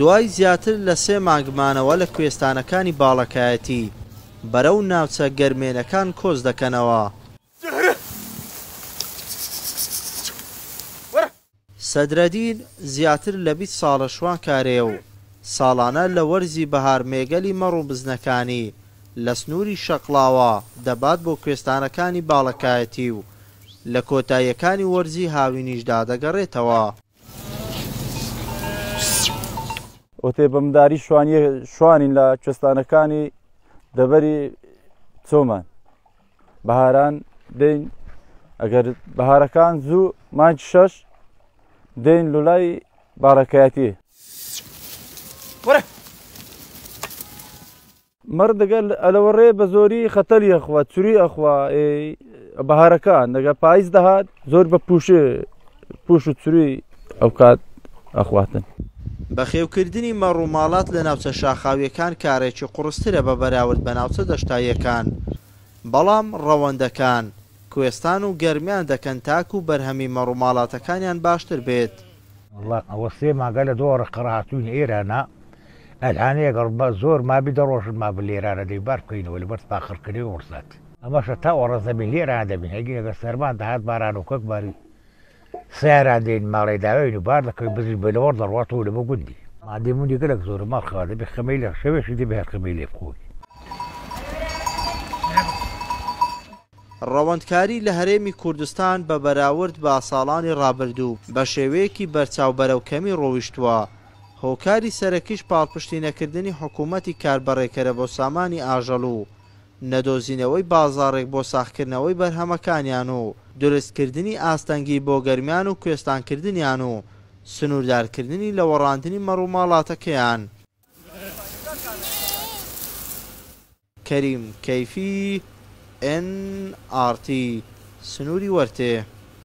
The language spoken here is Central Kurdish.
دوای زیاتر لە سێ مانگ مانەوە لە کوێستانەکانی باڵەکایەتی، بەرەو ناوچە گەرمێنەکان کۆچ دەکەنەوە. سەدرەدین زیاتر لە 20 ساڵە شوانکارەیە و ساڵانە لە وەرزی بەهار مێگەلی مەڕ و بزنەکانی لە سنووری شەقڵاوە دەبات بۆ کوێستانەکانی باڵەکایەتی و لە کۆتاییەکانی وەرزی هاوینیشدا دەگەڕێتەوە. ئۆتێ بە مداری شوانیە شوانین لە کوێستانەکانی دەبەری چۆمان بەهاران دێین ئەگەر بەهارەکان زوو مانگ شەش دێین لولای باڕەکایەتی. مەڕ دەگەل ئەلەوەڕێ بە زۆری خەتەلی ئەخوا چوری ئەخوا بەهارەکان دەگە پاییز دەهات زۆر بە پوش پوش و چوری ئەوکات ئەخواتن. بەخێوکردنی مەڕ و ماڵات لە ناوچە شاخاوییەکان کارێکی قوڕسترە بە بەراورد بە ناوچە دەشتاییەکان، بەڵام ڕەوەندەکان کوێستان و گەرمیان دەکەن تاکو بەرهەمی مەڕ و ماڵاتەکانیان باشتر بێت. وەڵا ئەوە سێ مانگە لە دۆڕە قەڕ هاتووین ئێرانە ئەلهانەیە گەڕ بە زۆر مابی دە ڕۆژ مابن لێرانە دەی بار بکەینەوە لەبەر پاخڕکردنەوەی وڕسات ئەمەشە تا ئۆڕە زەمین لێرانە دەبین هەگی ئەگەر سەرمان دەهات باران و کەک باری سیاران دێن ماڵێ داوێن و بار دەکەوین بزین بە لەوەڕ دەڕواتەوە لە بۆ گوندی مادەی منی گەلەک زۆرە ماڵ خەوا دەبێ خەمەی لە شەوێشی دەبێ هەر خەمەی لێ بخۆی. ڕەوەندکاری لە هەرێمی کوردستان بە بەراورد بە ساڵانی ڕابردوو بە شێوەیەکی بەرچاو بەرەو کەمی ڕۆیشتووە، هۆکاری سەرەکیش پاڵپشتی نەکردنی حکوومەتی کاربەڕێکەرە بۆ سامانی ئاژەڵ و نەدۆزینەوەی بازاڕێک بۆ ساغکردنەوەی بەرهەمەکانیان و دروستکردنی ئاستەنگی بۆ گەرمیان و کوێستانکردنیان و سنووردارکردنی لەوەڕاندنی مەڕوماڵاتەکەیان. کەریم کەیفی، ئێن ئاڕ تی، سنووری وەرتێ.